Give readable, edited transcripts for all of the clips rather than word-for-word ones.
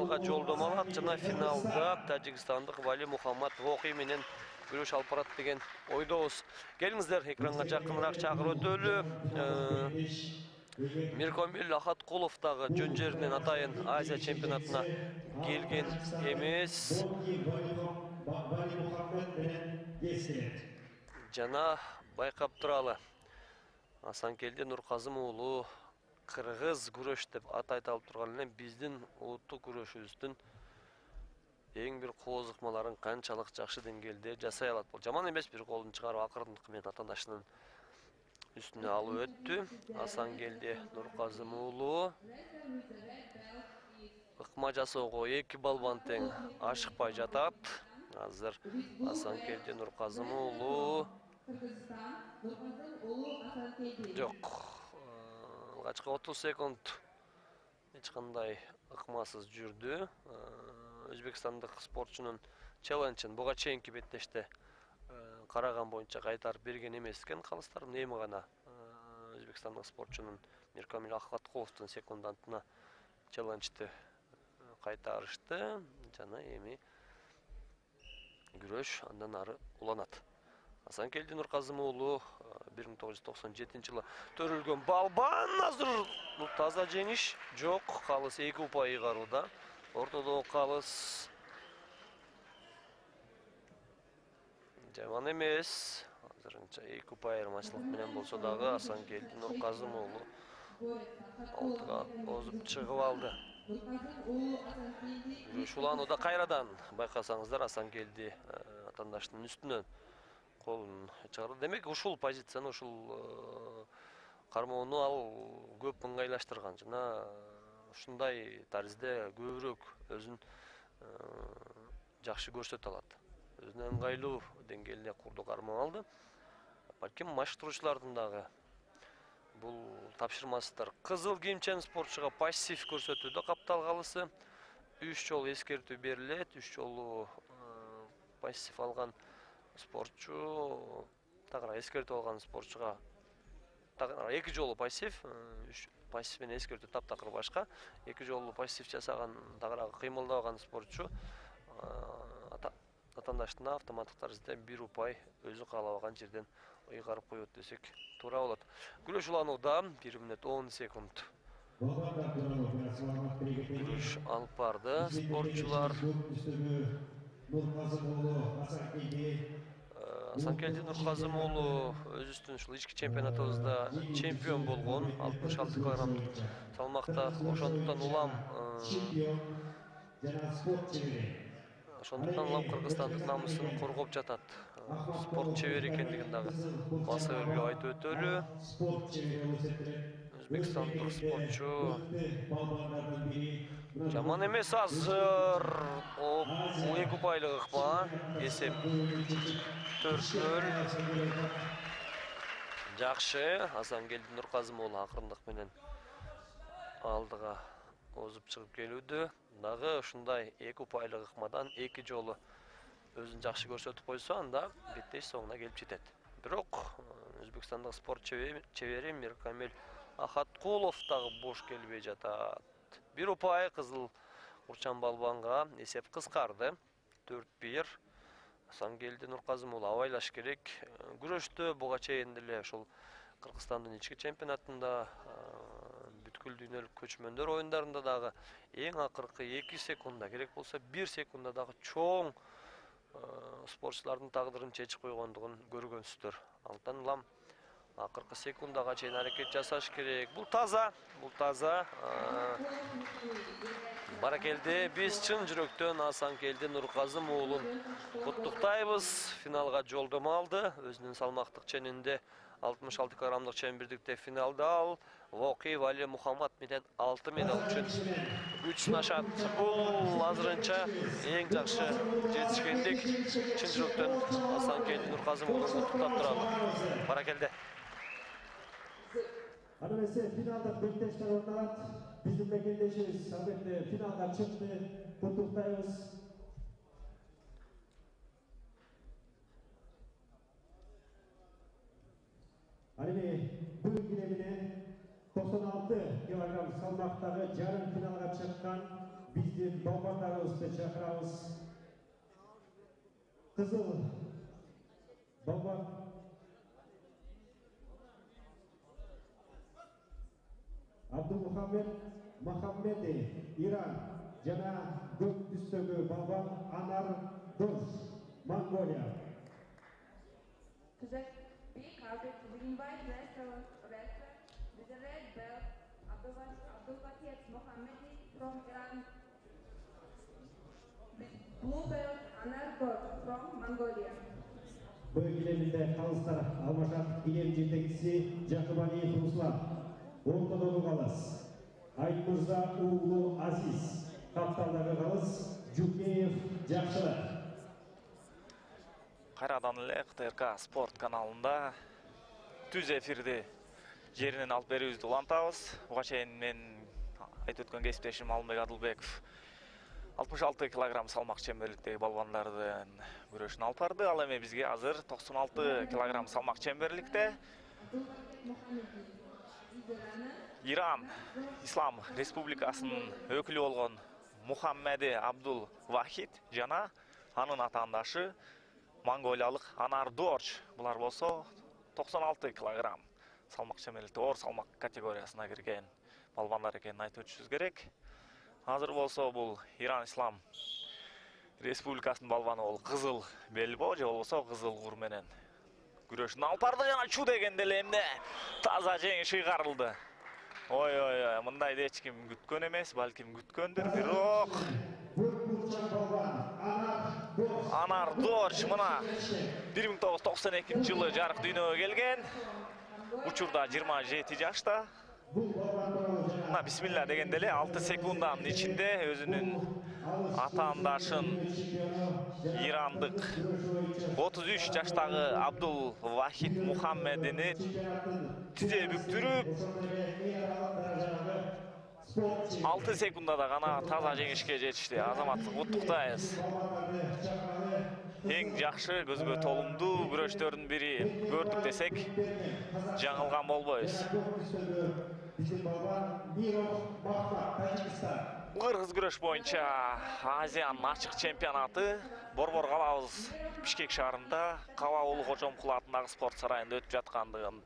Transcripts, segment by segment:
финалга жолдомо алат жана финалда тажикстандык Вали Мухаммад Воки менен күрөш алып барат деген ойдобуз. Келиңиздер, экранга жакыныраак чакырып өтөлү. Миркомил Ахаткулов дагы жөн жеринен атайын Азия чемпионатына келген эмес. Жана байкап туралы Асанкелди Нурказым уулу кыргыз күрөш деп ат айтылып турган эле биздин улуттук күрөшүбүздүн эң бир кооз ыкмаларын канчалык жакшы деңгээлде жасай алат. Бул жаман эмес, бир колун чыгарып акырындык менен атаандашынын үстүнө алып өттү. Асанкелди Нурказым уулу ыкма жасоого 2 балбан тең ашыкпай жатат. Азыр Асанкелди Нурказым уулу жок. Алгачкы 30 секунд эч кандай ыкмасыз жүрдү. Өзбекстандык спортчунун челленджин буга чейинки беттеште караган боюнча кайтарып берген эмес экен калыстарын. Эми гана өзбекстандык спортчунун Миркомил Ахаткуловдун секундантына челленджди кайтарышты жана эми күрөш андан ары уланат. Асанкелди Нурказым уулу 1997 жылы төрүлгөн балбан. Азыр бул таза жеңиш жок. Калыс 2 упай ыйгарууда. Ортодогу калыс жаман эмес. Азырынча 2 упай айырмачылык менен болсо дагы Асанкелди Нурказым уулу алтыга озуп чыгып алды. Күрөш уланууда кайрадан байкасаңыздар Асанкелди атаандашынын үстүнөн колун чыгарды. Демек ушул позицияны, ушул кармоону ал көп ыңгайлаштырган жана ушундай таризде көбүрөөк өзүн жакшы көрсөтө алат. Өзүнө ыңгайлуу деңгээлде курду кармоо алды. Балким маштыруучулардын дагы бул тапшырмасыдыр. Кызыл кийимчен спортчуга пассив көрсөтүүдө капталгалысы 3 жолу эскертүү берилет. 3 жолу пассив алган спортчу тагыраак эскертүү алган спортчуга тагыраак 2 жолу пассив, 3 пассив менен эскертүү таптакыр башка. 2 жолу пассив жасаган тагыраак кыймылдабаган спортчу атаандашына автоматтык таризде 1 упай өзү каалабаган жерден ыйгарып коет десек туура болот. Күрөш уланууда 1 мүнөт 10 секунд. Күрөш алып барды спортчулар. Асанкелди Нурказым уулу өзүбүздүн ушул ички чемпионатыбызда чемпион болгон 66 килограммдык салмакта. Ошондуктан улам Кыргызстандык намысын коргоп жатат. Спорт чебери экендигин дагы баса өргө айтып өтөлү. Өзбекстандык спортчу жаман эмес азыр. 2 упайлык ыкма. Эсеп 4-0. Жакшы. Асанкелди Нурказым уулу акырындык менен алдыга озуп чыгып келүүдө. Дагы ушундай 2 упайлык ыкмадан 2 жолу өзүн жакшы көрсөтүп койсо, анда беттеш соңуна келип жетет. Бирок Өзбекстандык спорт чебери Миркомил Ахаткулов дагы бош келбей жатат. 1 упай кызыл курчан балбанга эсеп кыскарды. 4-1. Асанкелди Нурказым уулу абайлаш керек. Күрөштө буга чейин деле ушул Кыргызстандын ички чемпионатында, бүткүл дүйнөлүк көчмөндөр оюндарында дагы эң акыркы 2 секунда, керек болсо 1 секунда дагы чоң спортчулардын тагдырын чечип койгондугун көргөнсүздөр. Антан улам акыркы секундага чейин аракет жасаш керек. Бул таза. Баракелди. Биз чын жүрөктөн Асанкелди Нурказым уулун куттуктайбыз. Финалга жолдомо алды. Өзүнүн салмактык ченинде 66 килограммдык чембирдикте финалда ал Воки Вали Мухаммад менен 6 медал үчүн күч сынашат. Бул азырынча эң жакшы жетишкендик. Чын жүрөктөн Асанкелди Нурказым уулун куттуктап туралы. Баракелди. Аны эсе финалда беттештер орнат. Биздин мекендешибиз албетте финалга чыкты. Куттуктайбыз. Алими бул килемине 96 килограмм салмактагы жарым финалга чыккан биздин балбандарыбызды чакырабыз. Кызыл балбан Абдулмухаммед Махаммеди, Иран жана көк түстөгү балбан Анар Дос, Монголия. To the big carpet, we invite wrestler with the red belt, Abdulwakil Mohammedi from Iran, with blue belt, Anar Dor from Mongolia. Бул килеминде калыстар алмашат килем жетекчиси Жакыбалиев Руслан, ортодогу калыс Айтмырза уулу Азиз, капталдагы калыс Жукеев Жакшылык. Кайрадан эле КТРК спорт каналында түз эфирди жеринен алып берүүбүздү улантабыз. Буга чейин мен айтып өткөн кесиптешим Алмек Адылбеков 66 килограмм салмак чемберликтеги балбандардын күрөшүн алып барды. Ал эми бизге азыр 96 килограмм салмак чемберликте Иран Ислам Республикасынын өкүлү болгон Мухаммеди Абдул Вахид жана анын атаандашы монголиялык Анар Дорч. Булар болсо 96 килограмм салмак чемберликте оор салмак категориясына кирген балбандар экенин айтып өтүшүбүз керек. Азыр болсо бул Иран Ислам Республикасынын балбаны бол кызыл белбо же болбосо кызыл кур менен күрөшүн алып барды жана чу дегенде эле эмне таза жеңиш ыйгарылды. Ой, мындай эч ким күткөн эмес, балким күткөндүр, бирок Анар Дорч мына 1992-жылы жарык дүйнөгө келген. Учурда 27 жашта. Мына бисмилла дегенде эле 6 секунддын ичинде өзүнүн атаандашын ирандык 33 жаштагы Абдул Вахид Мухаммедини тизе бүктүрүп 6 секундда гана таза жеңишке жетишти. Азаматты куттуктайбыз. Эң жакшы көзгө толумдуу күрөштөрдүн бири көрдүк десек жаңылган болбойбуз. Кыргыз күрөш боюнча Азиянын ачык чемпионаты Борбор калабыз Бишкек шаарында Каба уулу Кожомкул атындагы спорт сарайында өтүп жаткандыгын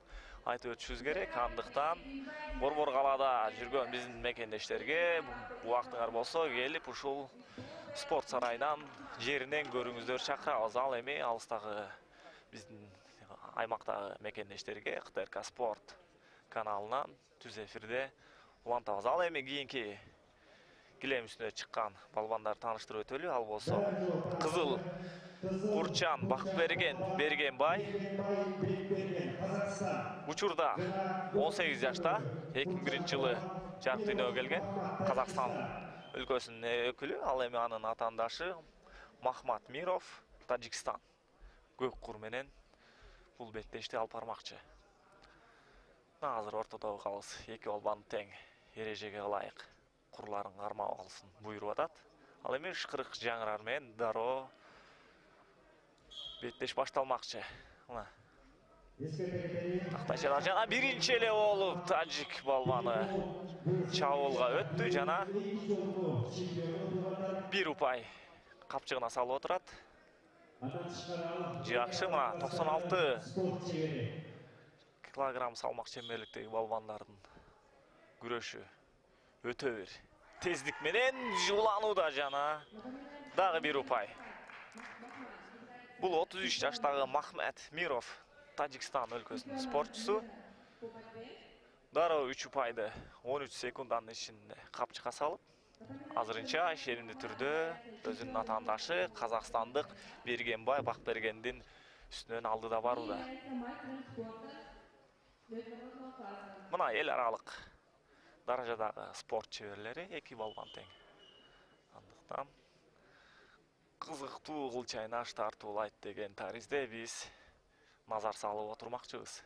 айтып өтүшүбүз керек. Андыктан Борбор калада жүргөн биздин мекендештерге убактыңар болсо келип ушул спорт сарайынан жеринен көрүңүздөр чакырабыз. Ал эми алыстагы биздин аймактагы мекендештерге КТРК спорт каналынан түз эфирде улантабыз. Ал эми кийинки килем үстүнө чыккан балбандар тааныштырып өтөлү. Ал болсо кызыл Курчан Бергенбай. Учурда 18 жашта, 2001-жылы жарык дүйнөгө келген Казакстан өлкөсүнүн өкүлү. Ал эми анын атаандашы Махмат Миров Тажикстан көк кур менен бул беттешти алып бармакчы. Азыр ортодогу калыс эки балбан тең эрежеге ылайык курларын кармап алсын буйруп атат. Ал эми ышкырык жаңырар менен дароо беттеш башталмакчы. Мына тактайчалар жана биринчи эле болуп тажик балбаны чабуулга өттү жана бир упай капчыгына салып отурат. Жакшы, мына 96 килограмм салмак чемберликтеги балбандардын күрөшү өтө бир тездик менен жууланууда жана дагы бир упай. Бул 33 жаштагы Махмат Миров Тажикстан өлкөсүнүн спортчусу. Дароо 3 упайды 13 секунддын ичинде капчыкка салып, азырынча шеримдүү түрдө өзүнүн атаандашы казакстандык Бергенбай Бакбергендин үстүнөн алдыда барууда. Мына эл аралык даражадагы спорт чеберлери эки балбан тең. Андыктан кызыктуу кылчайнаш тартуулайт деген таризде биз назар салып отурмакчыбыз.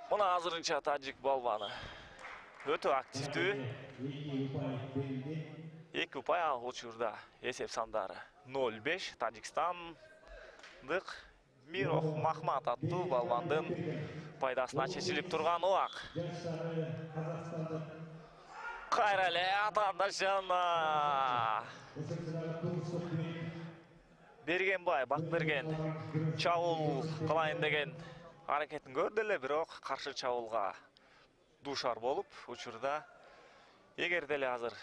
Мына азырынча тажик балбаны өтө активдүү. Эки упай ал учурда эсеп сандары 0-5 Тажикстандык Миров Махмат аттуу балбандын пайдасына чечилип турган убак. Кайра эле атаандаштарына. Бергенбай, Бакберген чабуул кылайын деген аракетин көрдү эле, бирок каршы чабуулга дуушар болуп, учурда эгерде эле азыр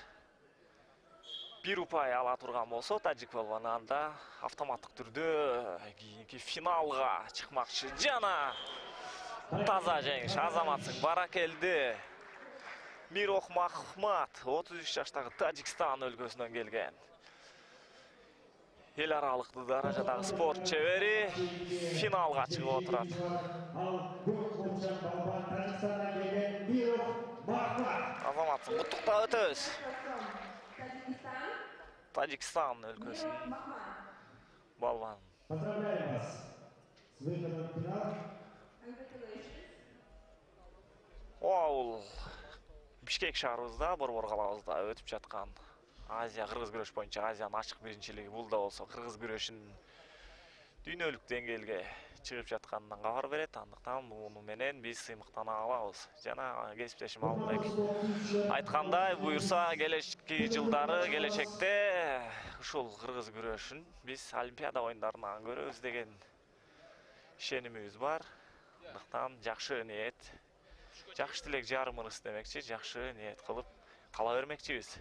бир упай ала турган болсо, тажик балбаны анда автоматтык түрдө кийинки финалга чыкмакчы. Жана таза жеңиш, Азаматсың баракелди. Мирох Махмат, 33 жаштагы Тажикстан өлкөсүнөн келген. Эл аралыктуу даражадагы спорт чебери финалга чыгып отурат. Азаматсың куттуктап өтөбүз. Тажикстан өлкөсүнүн балбаны. Поздравляем вас с выходом в финал. Бул Бишкек шаарыбызда, Борбор калабызда өтүп жаткан Азия кыргыз күрөш боюнча Азиянын ачык биринчилиги. Бул да болсо кыргыз күрөшүнүн дүйнөлүк деңгээлге чыгып жатканынан кабар берет. Андыктан муну менен биз сыймыктана алабыз. Жана кесиптешим Алымбек айткандай, буюрса келечки жылдары, келечекте ушул кыргыз күрөшүн биз Олимпиада оюндарына көрөбүз деген ишенимибиз бар. Андыктан жакшы ниет, жакшы тилек жарымыбыз демекчи, жакшы ниет кылып кала бермекчибиз.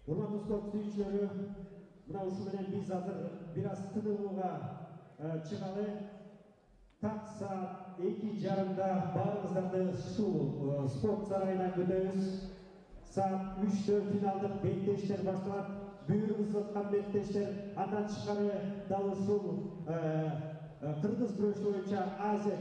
Урматтуу спорт сүйүүчүлөрү, мына ушу менен биз азыр бир аз тынууга чыгалы. Так саат 2:30 баарыңыздарды ушул спорт сарайына күтөбүз. Саат 3-тө финалдык беттештер башталат. Бүйүрүбүз аткан беттештер андан тышкары дал ушул кыргыз күрөшү боюнча Азия